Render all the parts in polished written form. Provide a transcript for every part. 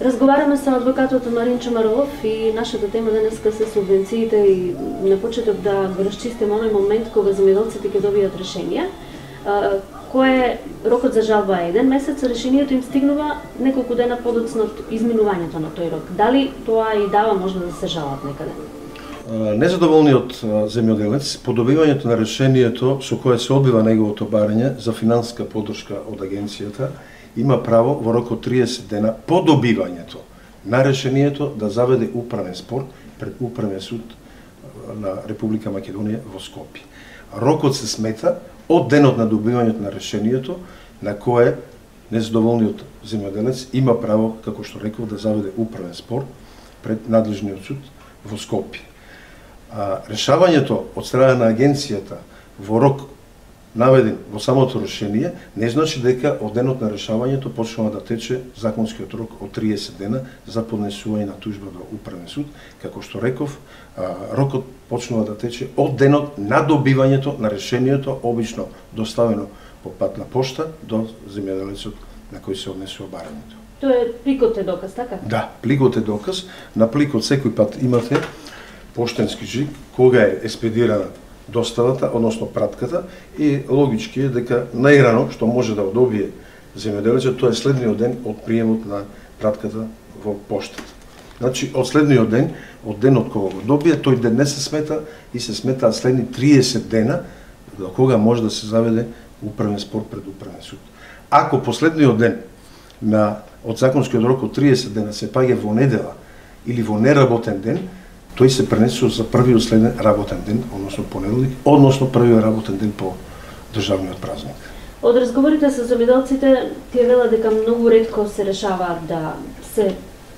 Разговараме со адвокатот Марин Чомаров и нашата тема денеска се субвенциите и на почеток да го расчистиме оној момент кога земјоделците ќе добијат решенија. Кој е рокот за жалба е 1 месец, решението им стигнува неколку дена подоцна од изминувањето на тој рок. Дали тоа и дава можност да се жалат некаде? Незадоволниот земјоделец по добивањето на решението со кое се одбива неговото барање за финансиска поддршка од агенцијата има право во рок од 30 дена по добивањето на решението да заведе управен спор пред Управен суд на Република Македонија во Скопје. Рокот се смета од денот на добивањето на решението на кое незадоволниот земјоделец има право, како што реков, да заведе управен спор пред надлежниот суд во Скопје. Решавањето од страна на агенцијата во рок наведен во самото решение не значи дека од денот на решавањето почнува да тече законскиот рок од 30 дена за поднесување на тужба до Управен суд. Како што реков, рокот почнува да тече од денот на добивањето на решението, обично доставено по пат на пошта до земјоделецот на кој се однесува барањето. Тоа е пликот е доказ, така? Да, пликот е доказ. На пликот секој пат имате поштенски жиг кога е еспедирана доставата, односно пратката, и логички е дека најрано што може да одобие земјоделецот, тоа е следниот ден од приемот на пратката во поштата. Значи, од следниот ден, од денот кога го добие, тој ден не се смета и се сметаат следни 30 дена до кога може да се заведе управен спор пред Управен суд. Ако последниот ден од законскиот рок од 30 дена се паѓа во недела или во неработен ден, тој се пренесува за првиот следен работен ден, односно понеделник, односно првиот работен ден по државниот празник. Од разговорите со земјоделците тие велат дека многу ретко се решава да се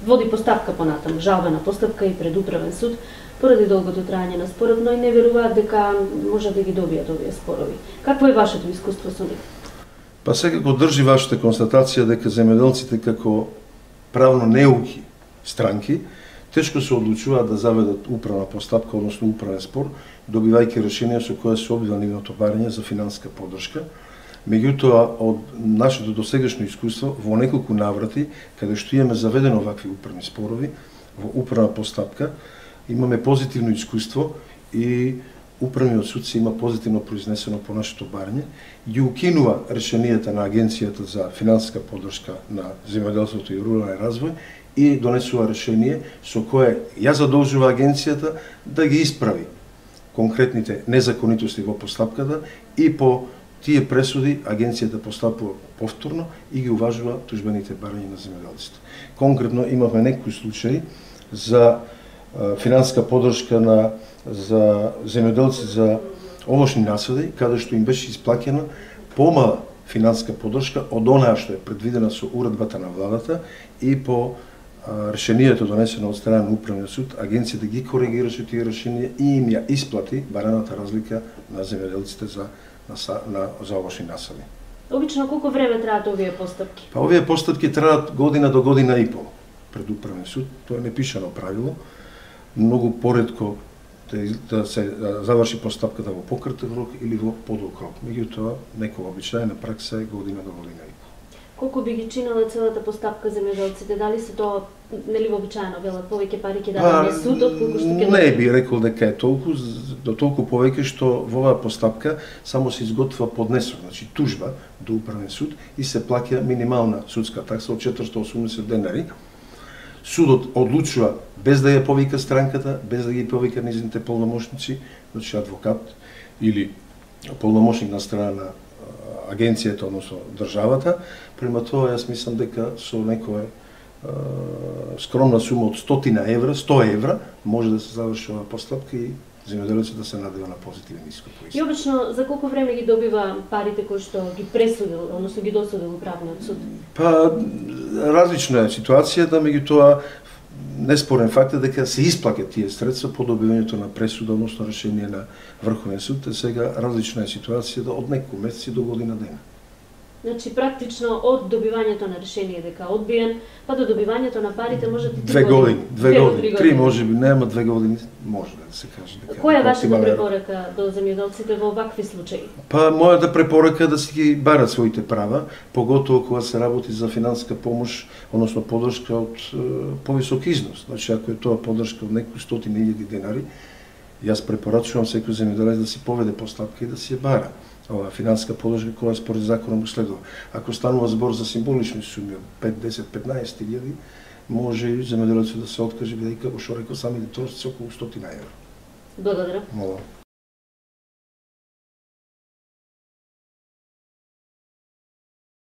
води постапка понатаму, жалбена постапка и пред Управен суд, поради долгото траење на спорот, но и не веруваат дека може да ги добијат овие спорови. Какво е вашето искуство со нив? Па секако држи вашата констатација дека земјоделците како правно неуки странки тешко се одлучуваат да заведат управна постапка, односно управен спор, добивајќи решение со кое се одбива нивното барање за финансиска поддршка. Меѓутоа, од нашето досегашно искуство, во неколку наврати, каде што имаме заведено вакви управни спорови, во управна постапка, имаме позитивно искуство и Управниот суд се има позитивно произнесено по нашето барање, ги укинува решенијата на Агенцијата за финансиска поддршка на земјоделството и рурален развој и донесува решение со кое ја задолжува агенцијата да ги исправи конкретните незаконитости во постапката и по тие пресуди агенцијата постапува повторно и ги уважува тужбените барања на земјоделците. Конкретно имавме некои случаи за финансиска поддршка за земјоделци за овошни насади, каде што им беше исплаќена помала финансиска поддршка од онаа што е предвидена со уредбата на владата и по решението донесено од страна на Управниот суд, агенцијата ги коригираше тие решенија и им ја исплати бараната разлика на земјоделците за овошни насади. Обично колку време траат овие постапки? Па овие постапки траат година до година и пол пред Управен суд, тоа е непишано правило. Многу поретко да се заврши постапката во пократен рок или во подолг рок. Меѓутоа, некоја обичајна пракса е година до година и пол. Колку би ги чинела целата постапка земјоделците? Дали се тоа нели вообичаено велат повеќе пари ќе даде суд отколку што ќе не би рекол дека е толку, до толку повеќе што во оваа постапка само се изготвува поднесок, значи тужба до Управен суд и се плаќа минимална судска такса од 480 денари. Судот одлучува без да ја повика странката, без да ги повика низните полномошници, значи адвокат или полномошник на страна на агенцијата, односно државата. Према тоа, јас мислам дека со некоја скромна сума од 100 евра може да се заврши оваа постапка и земјоделецот да се надева на позитивен исход. И обично за колку време ги добива парите кои што ги пресудил, односно ги досудил Управниот суд? Па различна е ситуацијата, меѓутоа неспорен факт е дека се исплаќаат тие средства по добивањето на пресуда, односно решение на Врховен суд, сега различна е ситуацијата од неколку месеци до година дена. Значи практично од добивањето на решение дека одбиен, па до добивањето на парите може да 2 години, 2 години, 3 може би, нема 2 години, може да се каже дека. Која е вашата препорака до земјоделците во вакви случаи? Па мојата препорака е да си ги барат своите права, поготово кога се работи за финансиска помош, односно поддршка од повисок износ. Значи ако е тоа поддршка од некои 100.000 денари, јас препорачувам секој земјоделец да си поведе постапка и да си ја бара. Ова финансиска поддршка која според законот му следува. Ако станува збор за символични суми од 5, 10, 15.000, може и земјоделецот да се откаже, бидејќи, како што рекол, самите трошици околу 100 евро. Благодарам. Молам.